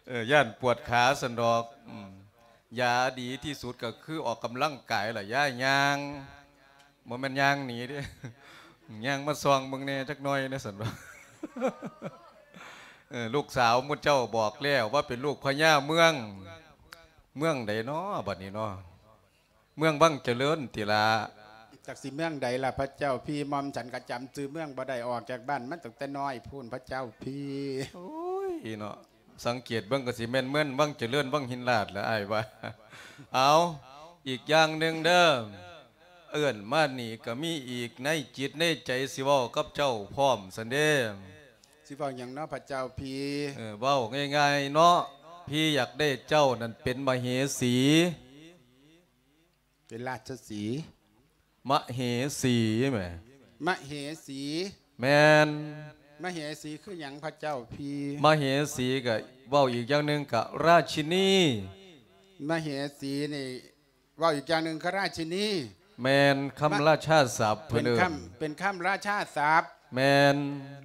ເອີ ຢ້ານປວດຂາຊັ້ນດອກ. ອືມ ຢາດີທີ່ສຸດກໍຄືອອກກຳລັງກາຍລະ ຢ່າຍ່າງ ບໍ່ແມ່ນຍ່າງໜີເດ້ ຍ່າງມາສ່ອງເບິ່ງແດ່ຈັກໜ່ອຍແດ່ຊັ້ນດອກ. ເອີ ລູກສາວໝູ່ເຈົ້າບອກແລ້ວວ່າເປັນລູກພະຍາເມືອງ. ເມືອງໃດນໍບັດນີ້ນໍ? ເມືອງວັງຈະເລີນຕິລະ. ຈັກຊິເມືອງໃດລະພະເຈົ້າພີ່? ໝ່ອມສັນກໍຈຳຊື່ເມືອງບໍ່ໄດ້ ອອກຈາກບ້ານມາຕັ້ງແຕ່ນ້ອຍພຸ້ນພະເຈົ້າພີ່. ໂອ້ຍເນາະ ສັງເກດເບິ່ງກໍຊິແມ່ນເມືອງວັງຈະເລີນ ວັງຫິນລາດລະອ້າຍວ່າ. ເອົາ ອີກຢ່າງໜຶ່ງເດີ ເອີ້ນມານີ້ກໍມີອີກ ໃນຈິດໃນໃຈຊິເວົ້າກັບເຈົ້າພ້ອມຊັ້ນເດ້. ຊິເວົ້າຫຍັງເນາະພະເຈົ້າພີ່? ເອີ ເວົ້າງ່າຍໆເນາະ ພີ່ຢາກໄດ້ເຈົ້ານັ້ນເປັນມະເຫສີ. ເປັນລາຊະສີ. ມະເຫສີແໝ່. ມະເຫສີ. ແມ່ນ. ມະເຫສີຄືຫຍັງພະເຈົ້າພີ່? ມະເຫສີກະເວົ້າອີກຢ່າງໜຶ່ງກະລາຊິນີ. ມະເຫສີນີ້ເວົ້າອີກຢ່າງໜຶ່ງຄືລາຊິນີ. ແມ່ນ ຄຳລາຊາສັບເພິ່ນເອີ້ນ. ເປັນຄຳ ເປັນຄຳລາຊາສັບ. ແມ່ນ.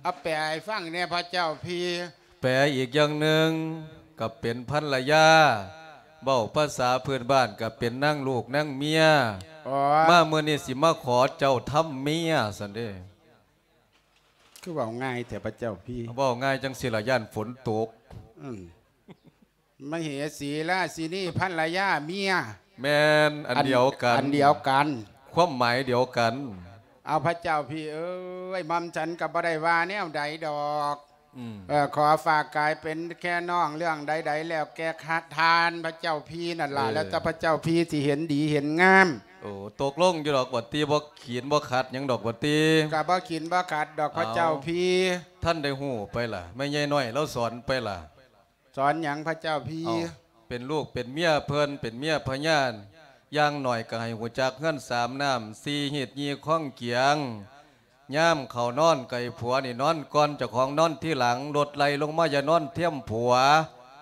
ເອົາແປໃຫ້ຟັງແດ່ພະເຈົ້າພີ່. ແປອີກຢ່າງໜຶ່ງກໍເປັນພັນລະຍາ ເວົ້າພາສາພື້ນບ້ານກໍເປັນນາງລູກນາງເມຍ. ມາມື້ນີ້ຊິມາຂໍເຈົ້າທຳເມຍຊັ້ນເດ້. ຄືເວົ້າງ່າຍແທ້ພະເຈົ້າພີ່? ເວົ້າງ່າຍຈັ່ງຊີ້ລະ ຢ້ານຝົນຕົກ. ອືມ ມະເຫສີ ລາຊິນີ ພັນລະຍາ ເມຍ. ແມ່ນ ອັນດຽວກັນ ອັນດຽວກັນ ຄວາມໝາຍດຽວກັນ. ເອົາ ພະເຈົ້າພີ່ເອີຍ ໝ່ອມສັນກໍບໍ່ໄດ້ວ່າແນວໃດດອກ. ອືມ ເອີ ຂໍຝາກກາຍເປັນແຄ່ນ້ອງເລື່ອງໃດໆ ແລ້ວແກ່ທ່ານພະເຈົ້າພີ່ນັ້ນລະ. ເອີ ແລ້ວແຕ່ພະເຈົ້າພີ່ຊິເຫັນດີເຫັນງາມ. ໂອ້ ຕົກລົງຢູ່ດອກບັດຕິ ບໍ່ຂີນບໍ່ຂັດຫຍັງດອກບັດຕິ. ກໍບໍ່ຂີນບໍ່ຂັດດອກພະເຈົ້າພີ່. ເອົາ ທ່ານໄດ້ຮູ້ໄປລະ ແມ່ໃຫຍ່ນ້ອຍລາວສອນໄປລະ? ສອນຫຍັງພະເຈົ້າພີ່? ເອົ້າ ເປັນລູກເປັນເມຍເພິ່ນ ເປັນເມຍພະຍາ ຢ່າງໜ້ອຍກໍໃຫ້ຮູ້ຈັກເຮືອນສາມນ້ຳ ສີ່ຮີດ ຍີ່ຄອງກຽງ. ຍາມເຂົ້ານອນກໍໃຫ້ຜົວນີ້ນອນກ່ອນ ເຈົ້າຂອງນອນທີຫຼັງ. ລົດໄລ່ລົງມາຢ່ານອນທຽມຜົວ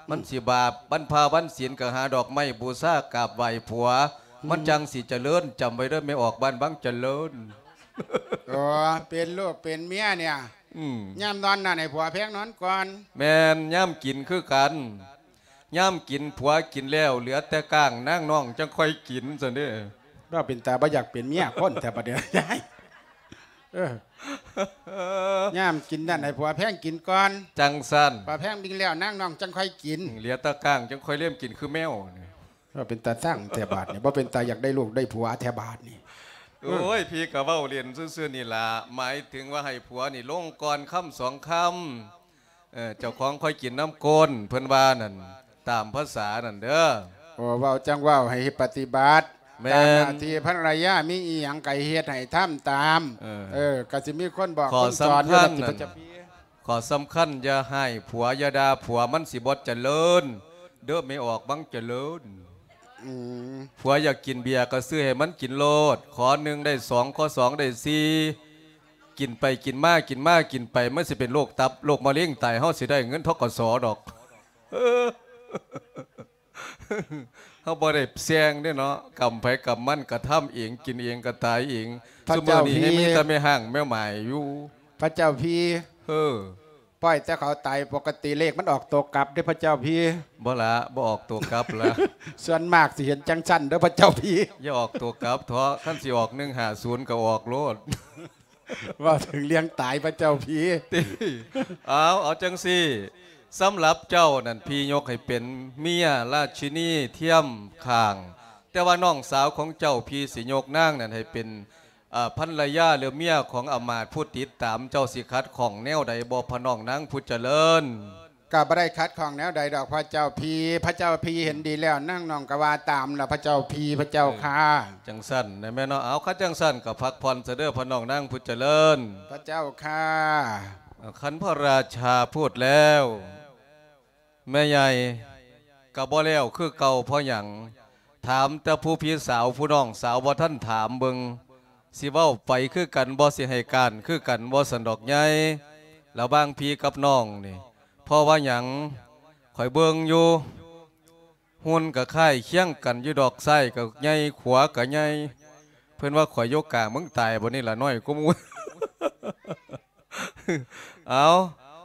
ມັນຊິບາບ. ວັນພະວັນສິນກໍຫາດອກໄມ້ບູຊາກາບໄຫວ້ຜົວ ມັນຈັ່ງຊິຈະເລີນ. ຈຳໄວ້ເດີ ແມ່ອອກບ້ານວັງຈະເລີນ. ອໍ ເປັນລູກເປັນເມຍເນ່ຍ. ອືມ ຍາມນອນນັ້ນໃຫ້ຜົວແພງນອນກ່ອນ. ແມ່ນ ຍາມກິນຄືກັນ ຍາມກິນຜົວກິນແລ້ວ ເຫຼືອແຕ່ກ້າງນາງນ້ອງຈັ່ງຄ່ອຍກິນຊັ້ນເດ້. ວ່າເປັນຕາບໍ່ຢາກເປັນເມຍຄົນແທ້ບັດນີ້ຍາຍ. ເອີ ຍາມກິນນັ້ນໃຫ້ຜົວແພງກິນກ່ອນ. ຈັ່ງຊັ້ນ ຜົວແພງກິນແລ້ວນາງນ້ອງຈັ່ງຄ່ອຍກິນ. ເຫຼືອແຕ່ກ້າງຈັ່ງຄ່ອຍເລມກິນຄືແມວ. ເອີ ເປັນຕາຊັງແທ້ບາດນີ້ ບໍ່ເປັນຕາຢາກໄດ້ລູກໄດ້ຜົວແທ້ບາດນີ້. ໂອ້ຍ ພີ່ກໍເວົ້າຫຼິ້ນຊື່ໆນີ້ລະ ໝາຍເຖິງວ່າໃຫ້ຜົວນີ້ລົງກ່ອນຄຳສອງຄຳ. ເອີ ເຈົ້າຂອງຄ່ອຍກິນນຳກົ້ນ ເພິ່ນວ່ານັ້ນ ຕາມພາສານັ້ນເດີ. ໂອ້ ເວົ້າຈັ່ງເວົ້າ ໃຫ້ເຮັດປະຕິບັດ. ແມ່ນ ຕາມໜ້າທີ່ພັນລະຍາມີອີ່ຫຍັງກໍເຮັດໃຫ້ທຳຕາມ. ເອີ ເອີ ກໍຊິມີຄົນບອກຄົນສອນຢູ່ ຂ້ອສຳຄັນນັ້ນ ຂ້ອສຳຄັນ ຢ່າຮ້າຍຜົວ ຢ່າດ່າຜົວ ມັນຊິບໍ່ຈະເລີນເດີ ແມ່ອອກວັງຈະເລີນ. ອືມ ຜົວຢາກກິນເບຍກໍຊື້ໃຫ້ມັນກິນໂລດ ຂໍໜຶ່ງໄດ້ສອງ ຂໍສອງໄດ້ສີ່ ກິນໄປກິນມາ ກິນມາກິນໄປ ມັນຊິເປັນໂລກຕັບ ໂລກມະເຮັງຕາຍ ເຮົາຊິໄດ້ເງິນ ທກສ ດອກ. ເຮົາບໍ່ໄດ້ແຊ່ງເດ້ເນາະ ກຳໃຜກຳມັນ ກະທຳເອງ ກິນເອງ ກະຕາຍເອງ. ພະເຈົ້າ ຊຸມື້ນີ້ ພີ່ ມີແຕ່ແມ່ຮ້າງແມ່ໝ້າຍຢູ່. ພະເຈົ້າ ພີ່ ເອີ ປ່ອຍແຕ່ເຂົາຕາຍ ປົກກະຕິເລກມັນອອກໂຕກັບເດ້ພະເຈົ້າ ພີ່. ບໍ່ລະ ບໍ່ອອກໂຕກັບລະ. ສ່ວນມາກຊິເຫັນຈັ່ງຊັ້ນເດີພະເຈົ້າ ພີ່. ຢ່າອອກໂຕກັບເທາະ ຄັນຊິອອກໜຶ່ງຫ້າສູນກໍອອກໂລດ. ເວົ້າເຖິງເລື່ອງຕາຍພະເຈົ້າ ພີ່. ເອົາ ເອົາຈັ່ງຊີ້ ສຳລັບເຈົ້ານັ້ນ ພີ່ຍົກໃຫ້ເປັນເມຍລາຊິນີທຽມຂ້າງ ແຕ່ວ່ານ້ອງສາວຂອງເຈົ້າ ພີ່ຊິຍົກນາງນັ້ນໃຫ້ເປັນ ເອີ ພັນລະຍາ ຫຼື ເມຍຂອງອຳມາດຜູ້ຕິດຕາມ. ເຈົ້າຊິຂັດຂ້ອງແນວໃດບໍ່ ພະນ້ອງນາງຜູ້ຈະເລີນ? ກໍບໍ່ໄດ້ຂັດຂ້ອງແນວໃດດອກພະເຈົ້າ ພີ່. ພະເຈົ້າ ພີ່ເຫັນດີແລ້ວ ນາງນ້ອງກໍວ່າຕາມລະພະເຈົ້າ ພີ່ ພະເຈົ້າ ເອີ ຂ້າ. ຈັ່ງຊັ້ນນະແມ່ເນາະ. ເອົາ ຄັນຈັ່ງຊັ້ນກໍພັກຜ່ອນຊະເດີ ພະນ້ອງນາງຜູ້ຈະເລີນ. ພະເຈົ້າ ຂ້າ. ເອົາ ຄັນພະລາຊາພູດແລ້ວ ແມ່ໃຫຍ່ກໍບໍ່ແລ້ວຄືເກົ່າ. ເພາະຫຍັງ? ຖາມແຕ່ຜູ້ພີ່ສາວ ຜູ້ນ້ອງສາວບໍ່ທັນຖາມເບິ່ງ ຊິເວົ້າໄປຄືກັນບໍ່ ຊິໃຫ້ການຄືກັນບໍ່ ຊັ້ນດອກໃຫຍ່ ລະຫວ່າງພີ່ກັບນ້ອງນີ້. ເພາະວ່າຫຍັງ? ຂ້ອຍເບິ່ງຢູ່ ຫຸ່ນກໍຄ້າຍຄຽງກັນຢູ່ດອກ ຊ້າຍກໍໃຫຍ່ ຂວາກໍໃຫຍ່. ເພິ່ນວ່າຂ້ອຍຢູ່ກາງ ມຶງຕາຍບໍ່ນີ້ລະ ນ້ອຍກວ່າໝູ່. ເອົາ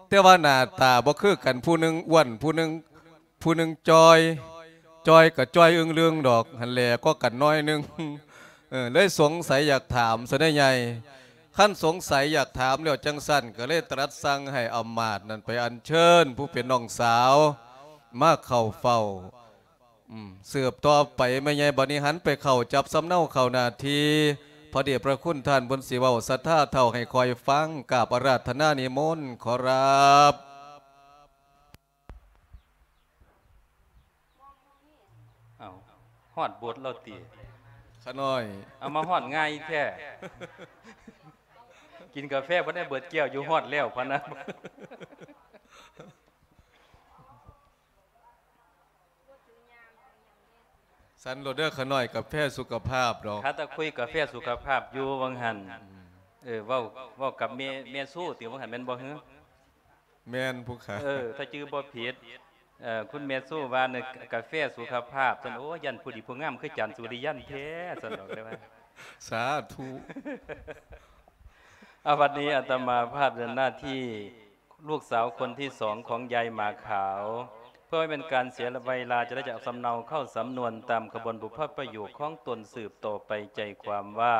ແຕ່ວ່າໜ້າຕາບໍ່ຄືກັນ ຜູ້ໜຶ່ງອ້ວນ ຜູ້ໜຶ່ງ ຜູ້ໜຶ່ງຈ່ອຍ ຈ່ອຍກໍຈ່ອຍອຶ່ງລຶ່ງດອກ ຫັ້ນແຫຼະ ກໍກັນໜ້ອຍໜຶ່ງ ເອີ ເລີຍສົງໄສຢາກຖາມຊະໄດ໋ໃຫຍ່. ຄັນສົງໄສຢາກຖາມແລ້ວຈັ່ງຊັ້ນ ກໍເລີຍຕະລັດສັ່ງໃຫ້ອຳມາດນັ້ນໄປອັນເຊີນຜູ້ເປັນນ້ອງສາວມາເຂົ້າເຝົ້າ. ອືມ ສືບຕໍ່ໄປແມ່ໃຫຍ່ ບັດນີ້ຫັນໄປເຂົ້າຈັບສຳເນົາເຂົ້າໜ້າທີ່ ພະເດດພະຄຸນທ່ານເພິ່ນຊິເວົ້າສັດທາເຖົ້າໃຫ້ຂ້ອຍຟັງ ກາບອາລາທະນານິມົນ ຂໍຮັບ. ເອົ້າ ຮອດບົດແລ້ວຕິ? ຂະນ້ອຍ ເອົາມາຮອດງ່າຍແທ້ ກິນກາແຟບໍ່ໄດ້ເບິດແກ້ວຢູ່ ຮອດແລ້ວພະນະ. ສັນໂລດເດີ ຂະນ້ອຍ ກາແຟສຸຂະພາບດອກ ຂ້າຕະຄຸຍກາແຟສຸຂະພາບຢູ່ວ່າງຫັ້ນ. ອືມ ເອີ ເວົ້າ ເວົ້າກັບແມ່ ແມ່ຊູຕິ ວ່າງຫັ້ນແມ່ນບໍ່? ເອີ ແມ່ນຜູ້ຂ້າ ເອີ ຖ້າຈື່ບໍ່ຜິດ ເອີ ຄຸນແມ່ຊູວ່າ ເອີ ກາແຟສຸຂະພາບ ຊັ້ນ. ໂອ້ ຢ້ານຜູ້ດີຜູ້ງາມຄືຈານສຸລິຍັນແທ້ ຊັ້ນດອກ ໄດ້ວ່າ ສາທຸ. ອາ ບັດນີ້ອາດຕະມາພາບເດີນໜ້າທີ່ ລູກສາວຄົນທີສອງຂອງຍາຍໝາຂາວ ເພື່ອບໍ່ໃຫ້ເປັນການເສຍເວລາ ຈະໄດ້ຈະເອົາສຳເນົາເຂົ້າສຳນວນຕາມຂະບວນບຸບພະປະໂຫຍກຂອງຕົນສືບຕໍ່ໄປ. ໃຈຄວາມວ່າ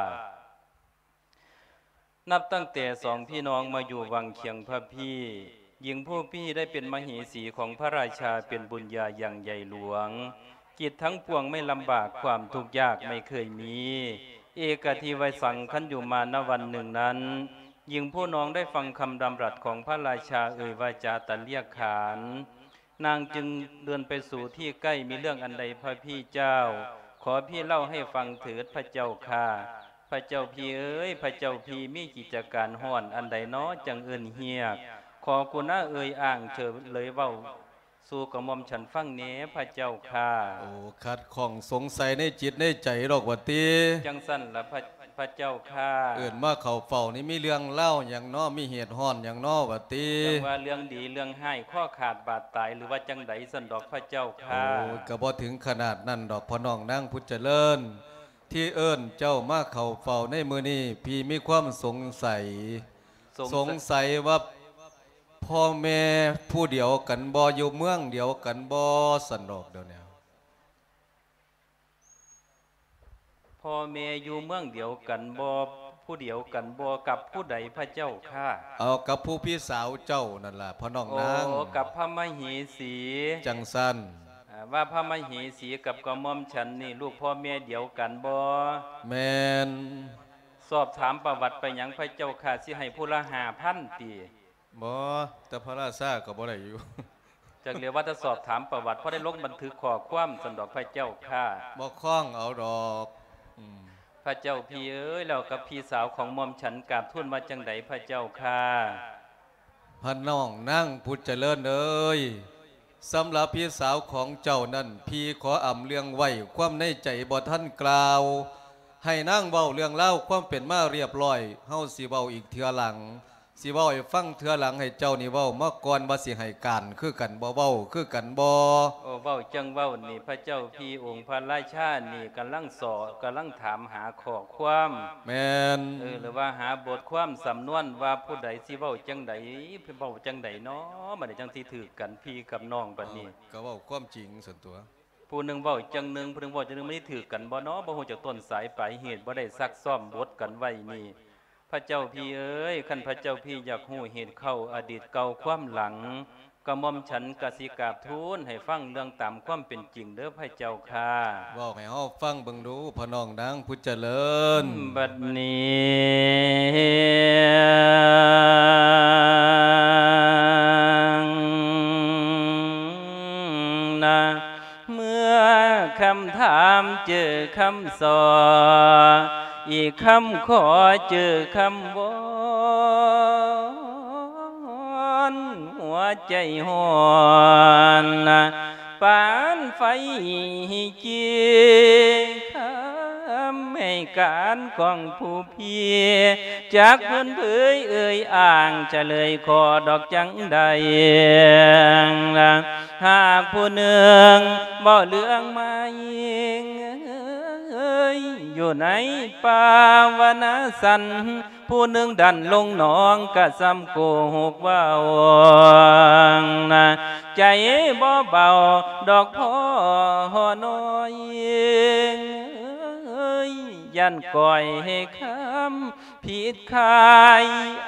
ນັບຕັ້ງແຕ່ສອງພີ່ນ້ອງມາຢູ່ວັງຄຽງພະພີ ຍິງຜູ້ພີໄດ້ເປັນມະເຫສີຂອງພະລາຊາ ເປັນບຸນຍາຢ່າງໃຫຍ່ຫຼວງ. ກິດທັງປວງໄມ່ລຳບາກ ຄວາມທຸກຍາກໄມ່ເຄີຍມີ. ເອກະທິໄວສັງ ຄັນຢູ່ມານະວັນໜຶ່ງນັ້ນ ຍິງຜູ້ນ້ອງໄດ້ຟັງຄຳດຳລັດຂອງພະລາຊາເອີ່ຍວາຈາຕັດລຽກຂານ ນາງຈຶ່ງເດີນໄປສູ່ທີ່ໃກ້. ມີເລື່ອງອັນໃດພະພີ່ເຈົ້າ? ຂໍພີ່ເລົ່າໃຫ້ຟັງເຖີດພະເຈົ້າຂ້າ. ພະເຈົ້າພີ່ເອີຍ ພະເຈົ້າພີ່ມີກິດຈະການຮ້ອນອັນໃດນໍ ຈັ່ງເອີ້ນຮຽກ? ຂໍກຸນາເອີ່ຍອ້າງເຊີນເລີຍເວົ້າ ສູ່ກະໝ່ອມສັນຟັງແດ່ພະເຈົ້າຂ້າ. ໂອ້ ຂັດຂ້ອງສົງໄສໃນຈິດໃນໃຈດອກຫວາຕິ? ຈັ່ງຊັ້ນລະພະ ພະເຈົ້າຂ້າ. ເອີ້ນມາເຂົ້າເຝົ້ານີ້ມີເລື່ອງລາວຫຍັງນໍ? ມີເຫດຮ້ອນຫຍັງນໍຫວາຕິ? ຈັ່ງວ່າເລື່ອງດີເລື່ອງຮ້າຍ ຄໍຂາດບາດຕາຍ ຫຼືວ່າຈັ່ງໃດຊັ້ນດອກພະເຈົ້າຂ້າ. ໂອ້ ກະບໍ່ເຖິງຂະໜາດນັ້ນດອກພໍ່ນ້ອງນາງຜູ້ຈະເລີນ. ທີ່ເອີ້ນເຈົ້າມາເຂົ້າເຝົ້າໃນມື້ນີ້ ພີ່ມີຄວາມສົງໄສ ສົງ ສົງໄສວ່າພໍ່ແມ່ຜູ້ດຽວກັນບໍ່? ຢູ່ເມືອງດຽວກັນບໍ່? ຊັ້ນດອກດຽວນີ້ ພໍ່ແມ່ຢູ່ເມືອງດຽວກັນບໍ່? ຜູ້ດຽວກັນບໍ່? ກັບຜູ້ໃດພະເຈົ້າຂ້າ? ເອົາ ກັບຜູ້ພີ່ສາວເຈົ້ານັ້ນລະພໍ່ນ້ອງນາງ. ໂອ້ ກັບພະມະເຫສີ. ຈັ່ງຊັ້ນ ອາ ວ່າພະມະເຫສີກັບກະໝ່ອມສັນນີ້ ລູກພໍ່ແມ່ດຽວກັນບໍ່? ແມ່ນ. ສອບຖາມປະຫວັດໄປຫຍັງພະເຈົ້າຂ້າ? ຊິໃຫ້ຜູ້ລະຫ້າພັນຕິ? ບໍ່ ແຕ່ພະລາຊາກໍບໍ່ໄດ້ຢູ່. ຈັກແລ້ວວ່າແຕ່ສອບຖາມປະຫວັດ ພໍໄດ້ລົງບັນທຶກຂໍ້ຄວາມຊັ້ນດອກພະເຈົ້າຂ້າ. ບໍ່ຄ້ອງເອົາດອກ. ອືມ ພະເຈົ້າພີ່ເອີຍ ແລ້ວກັບພີ່ສາວຂອງໝ່ອມສັນກາບທູນວ່າຈັ່ງໃດພະເຈົ້າຂ້າ? ພໍ່ນ້ອງນາງຜູ້ຈະເລີນເອີຍ ສຳລັບພີ່ສາວຂອງເຈົ້ານັ້ນ ພີ່ຂໍອຳເລື່ອງໄວ້ ຄວາມໃນໃຈບໍ່ທັນກ່າວ ໃຫ້ນາງເວົ້າເລື່ອງລາວຄວາມເປັນມາຮຽບຮ້ອຍ ເຮົາຊິເວົ້າອີກເທື່ອຫຼັງ ຊິເວົ້າໃຫ້ຟັງເທື່ອຫຼັງ ໃຫ້ເຈົ້ານີ້ເວົ້າມາກ່ອນວ່າຊິໃຫ້ການຄືກັນບໍ່ ເວົ້າຄືກັນບໍ່? ໂອ້ ເວົ້າຈັ່ງເວົ້ານີ້ ພະເຈົ້າພີ່ ອົງພະລາຊານີ້ກຳລັງສອ ກຳລັງຖາມຫາຂໍ້ຄວາມ. ແມ່ນ. ເອີ ຫຼືວ່າຫາບົດຄວາມສຳນວນວ່າຜູ້ໃດຊິເວົ້າຈັ່ງໃດ ເວົ້າຈັ່ງໃດນໍ ບັດນີ້ຈັ່ງຊິຖືກກັນ ພີ່ກັບນ້ອງບັດນີ້. ເອີ ກໍເວົ້າຄວາມຈິງຊັ້ນຕົວະ ຜູ້ໜຶ່ງເວົ້າຈັ່ງໜຶ່ງ ຜູ້ໜຶ່ງເວົ້າຈັ່ງໜຶ່ງ ມັນຊິຖືກກັນບໍ່ນໍ? ບໍ່ຮູ້ຈັກຕົ້ນສາຍປາຍເຫດ ບໍ່ໄດ້ຊັກຊ້ອມບົດກັນໄວ້ນີ້. ພະເຈົ້າພີ່ເອີຍ ຄັນພະເຈົ້າພີ່ຢາກຮູ້ເຫດເຄົ້າອະດີດເກົ່າຄວາມຫຼັງ ກະໝ່ອມສັນກະຊິກາບທູນໃຫ້ຟັງເລື່ອງຕາມຄວາມເປັນຈິງເດີພະເຈົ້າຂ້າ. ເວົ້າໃຫ້ເຮົາຟັງເບິ່ງດູ ພໍ່ນ້ອງນາງຜູ້ຈະເລີນ. ບັດນີ້ນະ ເມື່ອຄຳຖາມເຈີຄຳສໍ ອີກຄຳຂໍເຈີຄຳວອນ ຫົວໃຈຮ້ອນ ປານໄຟຈີ ຄຳໃຫ້ການຂອງຜູ້ ພີ່ ຈັກເພິ່ນເຜີຍເອີ່ຍອ້າງ ຈະເລີຍຂໍດອກຈັ່ງໃດ ຫາກຜູ້ໜຶ່ງເວົ້າເລື່ອງມາຍ ຢູ່ໃນປ່າວະນາສັນ ຜູ້ໜຶ່ງດັນລົງໜອງກະສ່ຳໂກຫົກເວົ້ານະ ໃຈບໍ່ເບົາດອກພໍ່ນ້ອຍ ຢ້ານກ້ອຍໃຫ້ຄຳ ຜິດຂາຍ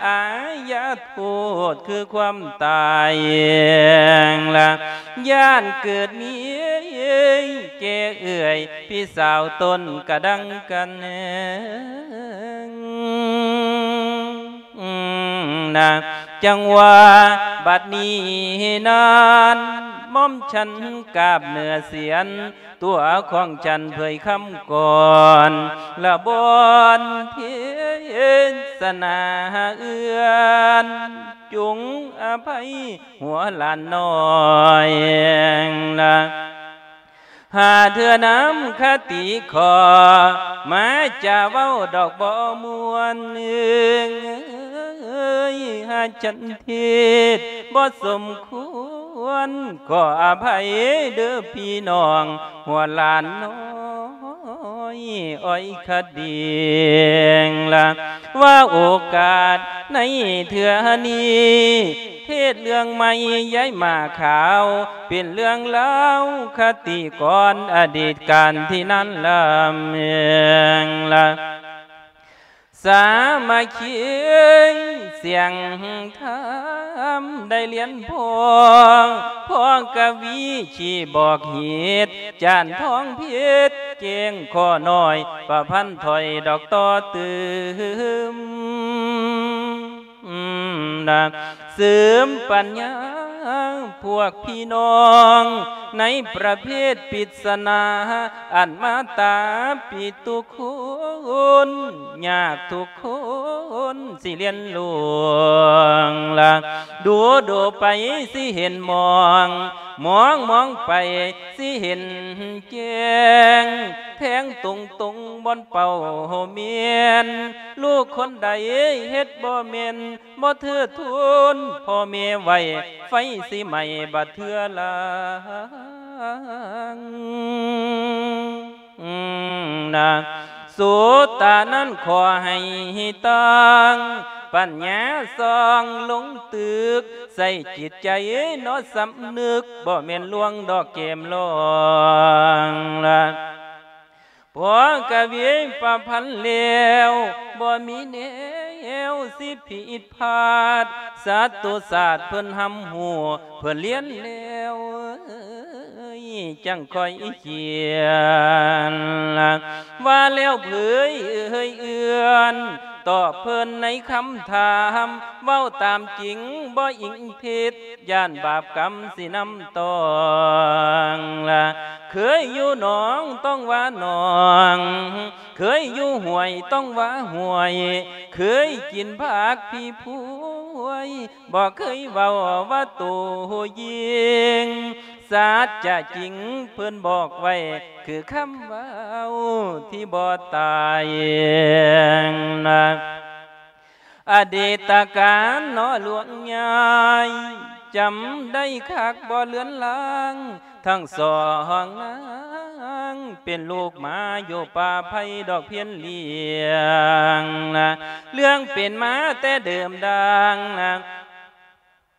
ອາຍາໂທດຄືຄວາມຕາຍລະ ຢ້ານເກີດມີແກ່ເອື້ອຍ ພີ່ສາວຕົນກະດັງກັນນະ ຈັ່ງວ່າບັດນີ້ນັ້ນ ໝ່ອມສັນກາບເໜືອສຽນ ຕົວຂອງຈັນເຜີຍຄຳກ່ອນ ລະບ່ອນເທດສະໜາເອື້ອນ ຈົ່ງອະໄພຫົວຫຼານນ້ອຍນະ ຫາເທື່ອນຳຄະຕິຂໍ ມາຈາເວົ້າດອກບໍ່ມ່ວນ ຫາຈັນເທດບໍ່ສົມຄວນ ຂໍອະໄພເດີ້ພີ່ນ້ອງ ຫົວຫຼານນ້ອຍອ້ອຍຂະດິງລະ ວ່າໂອກາດໃນເທື່ອນີ້ ເທດເລື່ອງໃໝ່ຍາຍໝາຂາວ ເປັນເລື່ອງລາວຄະຕິກ່ອນອະດີດການທີ່ນານລຳເອີງລະ ສາມັກຄີສຽງທຳໄດ້ລຽນພ້ອງ ພ້ອງກະວີຊີ້ບອກເຫດ ຈານທອງເພັດແຈ້ງຂໍໜ້ອຍ ປະພັນຖ້ອຍດອກຕໍ່ຕື່ມ ນະ ເສີມປັນຍາພວກພີ່ນ້ອງ ໃນປະເພດປິດສະໜາ ອັນມາຕາປິດທຸກຄົນ ຍາກທຸກຄົນຊິລຽນລ່ວງລະ ດູດູໄປຊິເຫັນມອງ ມອງມອງໄປຊິເຫັນແຈ້ງ ແທງຕົງໆບ່ອນເປົ້າແມ່ນ ລູກຄົນໃດເຮັດບໍ່ແມ່ນ ບໍ່ເທີດທູນພໍ່ແມ່ໄວ້ ໄຟຊິໄໝ້ບາດເທື່ອຫຼັງນະ ໂສຕານັ້ນຂໍໃຫ້ຕັ້ງ ປັນຍາສ່ອງລົງຕຶກ ໃສ່ຈິດໃຈເນາະສຳນຶກ ບໍ່ແມ່ນລວງດອກແກ້ມລອງລະ ພໍກະວີປະພັນແລ້ວ ບໍ່ມີແນວຊິຜິດພາດ ສັດຕູສາດເພິ່ນຮັບຮູ້ ເພິ່ນລຽນແລ້ວ ຈັ່ງຄ່ອຍຂຽນ ວ່າແລ້ວເຜີຍເອີ່ນ ຕອບເພິ່ນໃນຄຳຖາມ ເວົ້າຕາມຈິງບໍ່ອີງເທັດ ຢ້ານບາບກຳຊິນຳຕ້ອງລະ ເຄີຍຢູ່ໜອງຕ້ອງວ່າໜອງ ເຄີຍຢູ່ຫ້ວຍຕ້ອງວ່າຫ້ວຍ ເຄີຍກິນຜັກພີພວຍ ບໍ່ເຄີຍເວົ້າວ່າໂຕຍິງ ສັດຈະຈິງເພິ່ນບອກໄວ້ ຄືຄຳເວົ້າທີ່ບໍ່ຕາຍນະ ອະດີດຕະການເນາະຫຼວງຍາຍ ຈຳໄດ້ຄັກບໍ່ເລືອນລາງ ທັງສອງນາງເປັນລູກໝາຢູ່ປ່າໄຜ່ດອກພຽນລ້ຽງນະ ເລື່ອງເປັນມາແຕ່ເດີມດັງນະ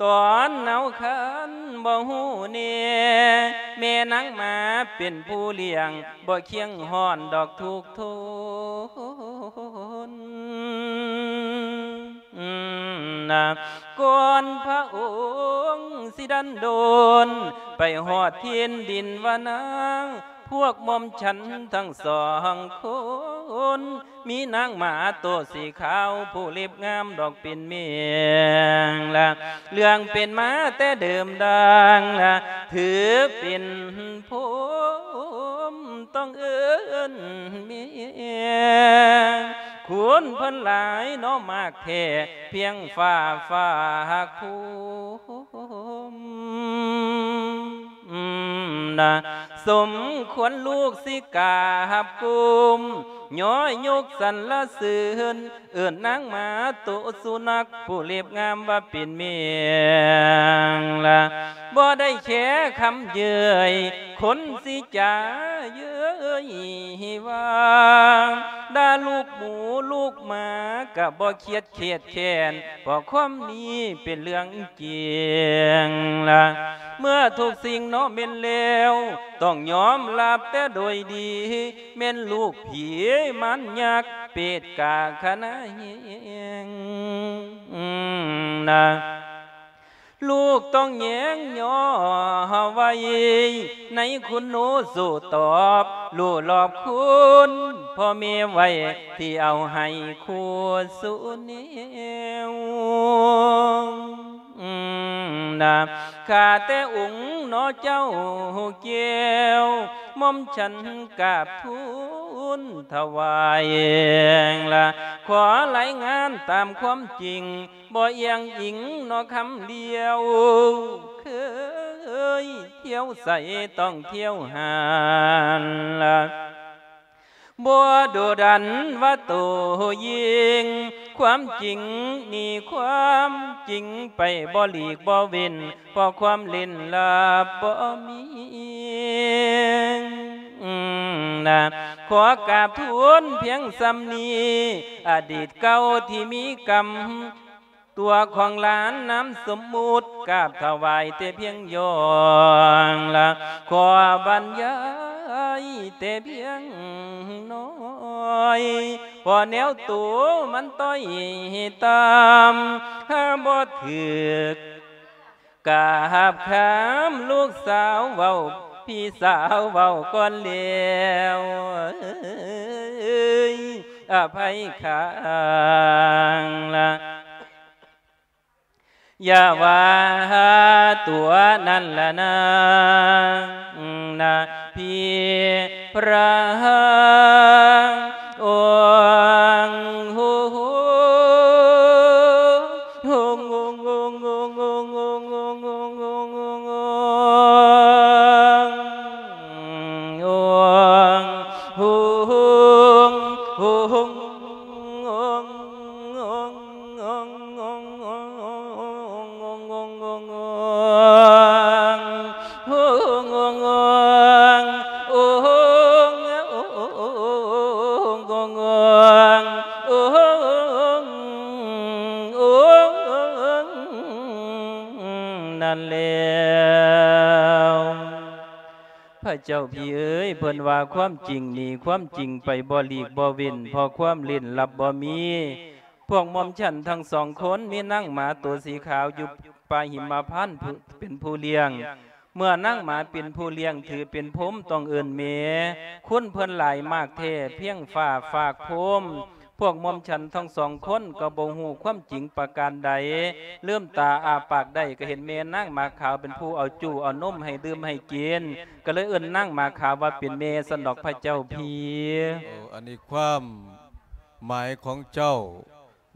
ຕອນເນົາຄັນບໍ່ຮູ້ແນ່ ແມ່ນາງໝາເປັນຜູ້ລ້ຽງ ບໍ່ຄຽງຮ້ອນດອກທຸກທົນນະ ກ່ອນພະອົງຊິດັນດົນ ໄປຮອດຖິ່ນດິນວານາ ພວກໝ່ອມສັນທັງສອງຄົນ ມີນາງໝາໂຕສີຂາວ ຜູ້ເລັບງາມດອກເປັນແມງລະ ເລື່ອງເປັນມາແຕ່ເດີມດັງລະ ຖືເປັນພົມຕ້ອງເອີ້ນແມ່ ຄຸນເພິ່ນຫຼາຍເນາະມາກແທ້ ພຽງຟ້າຝາກພູມ ນະ ສົມຄວນລູກຊິກາບກຸມ ຍ້ອຍຍົກສັນລະເສີນ ເອີ້ນນາງໝາໂຕສຸນັກ ຜູ້ເລັບງາມວ່າເປັນແມງລະ ບໍ່ໄດ້ແຄ່ຄຳເຍີ້ຍ ຄົນຊິຈາເຍີ້ ເອີຍວ່າ ດ່າລູກໝູລູກໝາກະບໍ່ຄຽດແຄດແຄ້ນ ເພາະຄວາມນີ້ເປັນເລື່ອງຈິງລະ ເມື່ອທຸກສິ່ງເນາະແມ່ນແລ້ວ ຕ້ອງຍອມຮັບແຕ່ໂດຍດີ ແມ່ນລູກຜີມານຍັກ ເປດກາຄະນະແຮງນະ ລູກຕ້ອງແຍງຍໍໄວ້ ໃນຄຸນໂນສູ່ຕອບ ຮູ້ລອບຄຸນພໍ່ແມ່ໄວ້ ທີ່ເອົາໃຫ້ຄູ່ສູ່ແນວນະ ຂ້າແຕ່ອົງໜໍເຈົ້າແກ້ວ ໝ່ອມສັນກາບທູນຖວາຍລະ ຂໍລາຍງານຕາມຄວາມຈິງ ບໍ່ອ້ຽງອີງເນາະຄຳດຽວ ເຄີຍທ່ຽວໃສຕ້ອງທ່ຽວຫັ້ນລະ ບໍ່ດຸດັນວ່າໂຕຍິ່ງ ຄວາມຈິງໜີຄວາມຈິງໄປ ບໍ່ຫຼີກບໍ່ເວັ້ນ ເພາະຄວາມຫຼິ້ນລັບບໍ່ມີນະ ຂໍກາບທູນພຽງສ່ຳນີ້ ອະດີດເກົ່າທີ່ມີກຳ ຕົວຂອງຫຼານນາມສົມມຸດ ກາບຖວາຍແຕ່ພຽງຢ່ອງລະ ຂໍບັນຍາຍແຕ່ພຽງໜ້ອຍ ເພາະແນວໂຕມັນຕ້ອຍຕ່ຳ ຫາບໍ່ຖືກກາບຄຳລູກສາວເວົ້າ ພີ່ສາວເວົ້າກ່ອນແລ້ວ ເອີຍ ອະໄພຂ້າງລະ ຢ່າວ່າຕົວນັ້ນລະນາງນະ ພີ່ພຣະອົງ ນັ້ນແລ້ວ ພະເຈົ້າພີ່ເອີຍ ເພິ່ນວ່າຄວາມຈິງໜີຄວາມຈິງໄປ ບໍ່ຫຼີກບໍ່ເວັ້ນ ເພາະຄວາມເຫຼັ້ນລັບບໍ່ມີ ພວກໝ່ອມສັນທັງສອງຄົນ ມີນາງໝາໂຕສີຂາວຢູ່ປ່າຫິມມະພານ ເປັນຜູ້ລ້ຽງ ເມື່ອນາງໝາເປັນຜູ້ລ້ຽງ ຖືເປັນພົມ ຕ້ອງເອີ້ນແມ່ ຄຸນເພິ່ນຫຼາຍມາກແທ້ ພຽງຝາຝາກພົມ ພວກໝ່ອມສັນທັງສອງຄົນກໍບໍ່ຮູ້ຄວາມຈິງປະການໃດ ລືມຕາອ້າປາກໄດ້ກໍເຫັນແມ່ນາງໝາຂາວເປັນຜູ້ເອົາຈູເອົານົມໃຫ້ດື່ມໃຫ້ກິນ ກໍເລີຍເອີ້ນນາງໝາຂາວວ່າເປັນແມ່ຊັ້ນດອກພະເຈົ້າພີ່. ໂອ້ ອັນນີ້ຄວາມໝາຍຂອງເຈົ້າ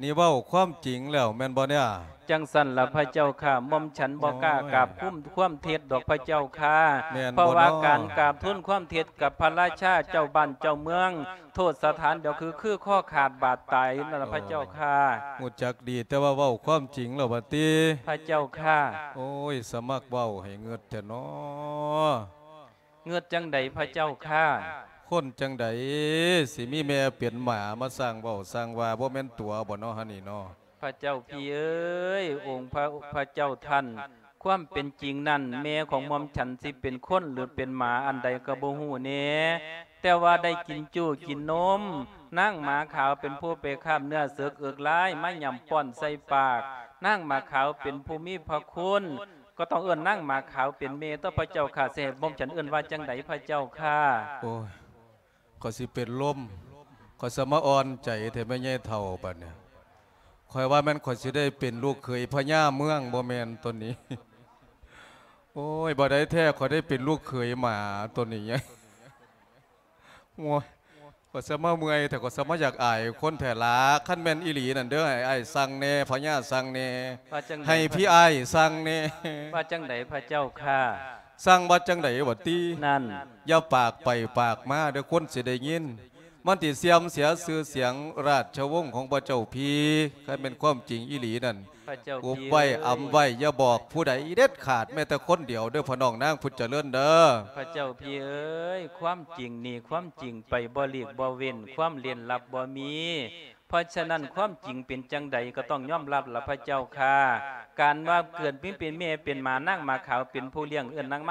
ນີ້ເວົ້າຄວາມຈິງແລ້ວແມ່ນບໍ່ເນຍ? ຈັ່ງຊັ້ນລະພະເຈົ້າຂ້າ ໝ່ອມສັນບໍ່ກ້າກາບຄຸມຄວາມເທັດດອກພະເຈົ້າຂ້າ ແມ່ນບໍ່ເນາະ? ເພາະວ່າການກາບທູນຄວາມເທັດກັບພະລາຊາເຈົ້າບ້ານເຈົ້າເມືອງ ໂທດສະຖານດຽວຄື ຄືຄໍຂາດບາດຕາຍນັ້ນລະພະເຈົ້າຂ້າ. ຮູ້ຈັກດີ ແຕ່ວ່າເວົ້າຄວາມຈິງແລ້ວບັດຕິ ພະເຈົ້າຂ້າ. ໂອ້ຍ ສະໝັກເວົ້າໃຫ້ເງິດແທ້ເນາະ. ເງິດຈັ່ງໃດພະເຈົ້າຂ້າ? ຄົນຈັ່ງໃດຊິມີແມ່ເປັນໝາມາສ້າງເວົ້າສ້າງວ່າ ບໍ່ແມ່ນຕົວບໍ່ເນາະຫັ້ນນີ້ເນາະ? ພະເຈົ້າພີ່ເອີຍ ອົງພະ ພະເຈົ້າທ່ານ ຄວາມເປັນຈິງນັ້ນ ແມ່ຂອງໝ່ອມສັນຊິເປັນຄົນ ຫຼື ເປັນໝາອັນໃດກໍບໍ່ຮູ້ແນ່ ແຕ່ວ່າໄດ້ກິນຈູ້ກິນນົມ ນາງໝາຂາວເປັນຜູ້ໄປຄາບເນື້ອເສິກເອິກລາຍ ມາຫຍ້ຳປ້ອນໃສ່ປາກ ນາງໝາຂາວເປັນຜູ້ມີພະຄຸນ ກໍຕ້ອງເອີ້ນນາງໝາຂາວເປັນແມ່ຕົວະພະເຈົ້າຂ້າ ຊິໃຫ້ໝ່ອມສັນເອີ້ນວ່າຈັ່ງໃດພະເຈົ້າຂ້າ? ໂອ້ຍ ຂ້ອຍຊິເປັນລົມ ຂ້ອຍສະມາອ່ອນໃຈແທ້ແມ່ໃຫຍ່ເຖົ້າປານນີ້ ຂ້ອຍວ່າແມ່ນຂ້ອຍຊິໄດ້ເປັນລູກເຂີຍພະຍາເມືອງ ບໍ່ແມ່ນຕົວນີ້. ໂອ້ຍ ບໍ່ໄດ້ແທ້ ຂ້ອຍໄດ້ເປັນລູກເຂີຍໝາຕົວນີ້. ໂອ້ຍ ຂ້ອຍສະມາເມື່ອຍແທ້ ຂ້ອຍສະມາຢາກອາຍຄົນແທ້ລະ. ຄັນແມ່ນອີ່ຫຼີນັ້ນເດີ ໃຫ້ອ້າຍສັ່ງແດ່ ພະຍາສັ່ງແດ່ ວ່າຈັ່ງໃດ ໃຫ້ພີ່ອ້າຍສັ່ງແດ່. ວ່າຈັ່ງໃດພະເຈົ້າຂ້າ? ສັ່ງວ່າຈັ່ງໃດຫວາຕິ? ນັ້ນ ຢ່າປາກໄປປາກມາເດີ ຄົນຊິໄດ້ຍິນ. ມັນຊິເສື່ອມເສຍຊື່ສຽງລາຊະວົງຂອງພະເຈົ້າພີ່. ຄັນແມ່ນຄວາມຈິງອີ່ຫຼີນັ້ນ ພະເຈົ້າ ອຸບໄວ້ ອຳໄວ້ ຢ່າບອກຜູ້ໃດເດັດຂາດ ແມ້ແຕ່ຄົນດຽວເດີ້ ພໍ່ນ້ອງນາງພຸດຈະເລີນເດີ້. ພະເຈົ້າພີ່ເອີຍ ຄວາມຈິງນີ້ ຄວາມຈິງໄປບໍ່ຫຼີກບໍ່ເວັ້ນ ຄວາມເຫຼັ້ນລັບບໍ່ມີ. ເພາະສະນັ້ນ ຄວາມຈິງເປັນຈັ່ງໃດກໍຕ້ອງຍອມຮັບລະພະເຈົ້າຂ້າ. ການວ່າເກີດມາເປັນແມ່ເປັນໝາ ນາງໝາຂາວເປັນຜູ້ລ້ຽງ ເອີ້ນນາງມາ